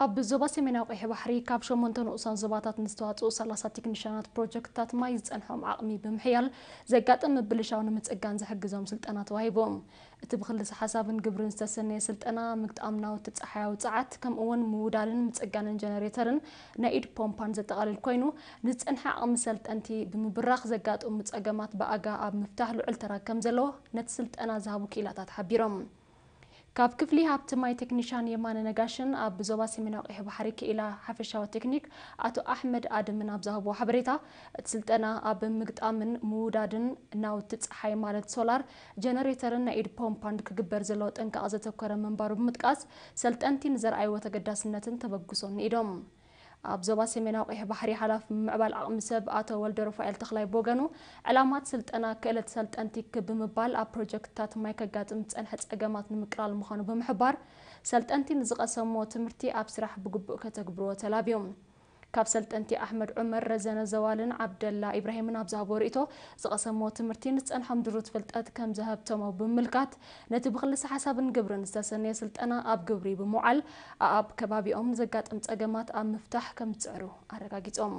ኣብ ዞባ ሰሜናዊ ቀይሕ ባሕሪ ካብ ሸሞንተ ንኡሳን ዞባታት ንዝተዋፅኡ ሰላሳ ቴክኒሻናት ፕሮጀክትታት ማይ ዝፀንሖም ዓቕሚ ብምሕያል ዘጋጥም ምብልሻው ንምፅጋን ዝሕግዞም ስልጠና ተዋሂቦም። እቲ ብክልሰ ሓሳብን ግብርን ዝተሰነየ ስልጠና ምግጣም ናውቲ ፀሓያዊ ፀዓት ከምኡ እውን ምውዳልን ምፅጋንን ጀነሬተርን ናይ ኢድ ፖምፓን ዘጠቓልል ኮይኑ ንዝፀንሐ ዓቕሚ ሰልጠንቲ ብምብራኽ ዘጋጥሙ ፀገማት ብኣጋ ኣብ ምፍታሕ ልዑል ተራ ከም ዘለዎ ነቲ ስልጠና ዝሃቡ ክኢላታት ሓቢሮም። ካብ ክፍሊ ሃብቲ ማይ ቴክኒሻን የማነ ነጋሽን ኣብ ዞባ ሰሜናዊ ቀይሕ ባሕሪ ክኢላ ሓፈሻዊ ቴክኒክ ኣቶ ኣሕመድ ኣድምን ኣብ ዝሃብዎ ሓበሬታ እቲ ስልጠና ኣብ ምግጣምን ምውዳድን ናውቲ ፀሓይ ማለት ሶላር ጀነሬተርን ናይ ኢድ ፖምፓን ክግበር ዘለዎ ጥንቃቐ ዘተኮረ ምንባሩ ብምጥቃስ ሰልጠንቲ ንዘርኣይዎ ተገዳስነትን ተበግሶን ንኢዶም። ኣብ ዞባ ሰሜናዊ ቀይሕ ባሕሪ ሓላፊ ምምዕባል ዓቕሚ ሰብ ኣቶ ወልደ ሩፋኤል ተኽላይ ብወገኑ ዕላማት ስልጠና ክእለት ሰልጠንቲ ክብ ብምባል ኣብ ፕሮጀክትታት ማይ ከጋጥም ዝፀንሐ ፀገማት ንምቅላል ምዃኑ ብምሕባር ሰልጠንቲ ንዝቐሰምዎ ትምህርቲ ኣብ ስራሕ ብግቡእ ከተግብርዎ ተላብዮም። ካብ ሰልጠንቲ ኣሕመድ ዑመር፣ ረዘነ ዘዋልን ዓብደላ ኢብራሂምን ኣብ ዝሃብዎ ርእይቶ ዝቐሰምዎ ትምህርቲ ንዝፀንሖም ድሩት ፍልጠት ከም ዘሀብተሞ ብምምልካት ነቲ ብክልሰ ሓሳብን ግብርን ዝተሰነየ ስልጠና ኣብ ግብሪ ብምውዓል ኣኣብ ከባቢኦም ዘጋጥም ፀገማት ኣብ ምፍታሕ ከም ዝፅዕሩ ኣረጋጊፆም።